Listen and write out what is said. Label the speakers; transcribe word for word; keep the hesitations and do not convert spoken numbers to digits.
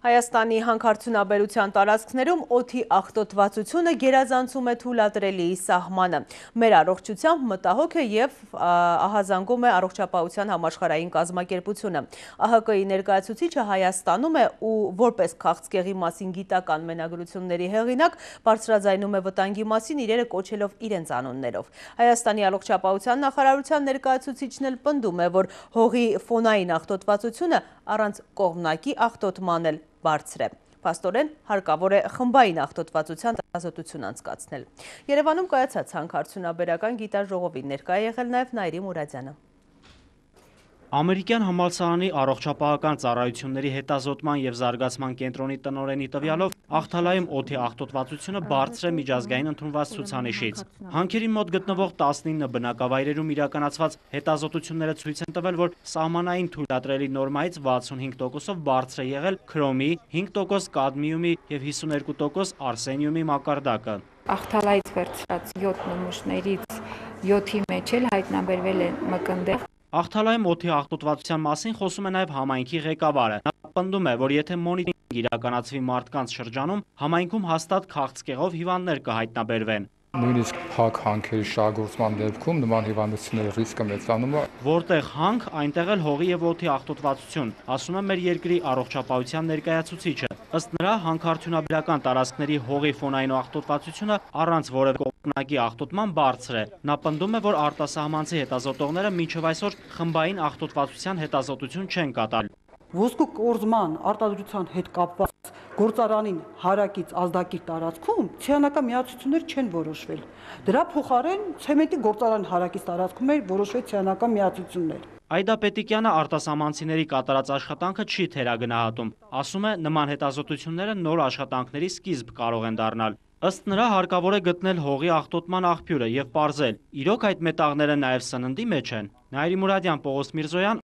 Speaker 1: Հայաստանի հանքարդյունաբերության տարածքներում օդի աղտոտվածությունը գերազանցում է թույլատրելի սահմանը։ Մեր առողջությամբ մտահոգ է և ահազանգում է առողջապահության համաշխարհային կազմակերպությունը։ ԱՀԿ-ի ներկայացուցիչը Հայաստանում է ու որպես քաղցկեղի մասին գիտական մենագրությունների հեղինակ բարձրաձայնում է վտանգի մասին իրերը կոչելով իրենց անուններով։ Հայաստանի առողջապահության նախարարության ներկայացուցիչն էլ պնդում է, որ հողի ֆոնային աղտոտվածությունը առանց կողմնակի աղտոտման էլ բարձր է։ Փաստորեն հարկավոր է խմբային աղտոտվածության հետազոտություն անցկացնել։ Երևանում կայացած հանքարդյունաբերական գիտաժողովին ներկա է եղել նաև Նայիրի Մուրադյանը։
Speaker 2: Ամերիկյան համալսարանի առողջապահական ծառայությունների հետազոտման և զարգացման կենտրոնի տնօրենի տվյալով Ախթալայում օդի աղտոտվածությունը բարձր է միջազգային ընդունված ցուցանիշից։ Հանքերի մոտ գտնվող տասնինը բնակավայրերում իրականացված հետազոտությունները ցույց են տվել, որ սահմանային թույլատրելի նորմայից վաթսունհինգ տոկոսով բարձր է եղել քրոմի, հինգ տոկոս կադմիումի և հիսունհինգ տոկոս արսենիումի մակարդակը։
Speaker 3: Ախթալայից վերցրած յոթ նմուշներից յոթի մեջ էլ հայտնաբերվել է մկնդեղ։
Speaker 2: Ախթալայում օդի աղտոտվածության մասին խոսում է նաև համայնքի ղեկավարը։ Նա պնդում է, որ եթե մոնիտորինգ իրականացվի մարդկանց շրջանում, համայնքում հաստատ քաղցկեղով հիվանդներ կհայտնաբերվեն։
Speaker 4: Նույնիսկ փակ հանքերի շահագործման դեպքում նման հիվանդությունների ռիսկը մեծանում է։
Speaker 2: Որտեղ հանք, այնտեղ էլ հողի և օդի աղտոտվածություն, ասում է մեր երկրի առողջապահության ներկայացուցիչը։ Ըստ նրա, հանքարդյունաբերական տարածքների հողի ֆոնային աղտոտվածությունը առանց որևէ կողմնակի աղտոտման բարձր է։ Նա պնդում է, որ արտասահմանցի հետազոտողները մինչև այսօր խմբային աղտոտվածության հետազոտություն չեն կատարել։
Speaker 5: Ոսկու կորզման արտադրության հետ կապված գործարանին հարակից ազդակիր տարածքում ցիանական միացություններ չեն որոշվել։ Դրա փոխարեն ցեմենտի գործարանի հարակից տարածքում էր որոշվել ցիանական միացություններ։
Speaker 2: Այդա Պետիկյանը արտասահմանցիների կատարած աշխատանքը չի թերագնահատում։ Ասում է, նման հետազոտությունները նոր աշխատանքների սկիզբ կարող են դառնալ։ Ըստ նրա հարկավոր է գտնել հողի աղտոտման աղբյուրը և պարզել՝ իրոք այդ մետաղները նաև սննդի մեջ են։ Նայիրի Մուրադյան, Պողոս Միրզոյան,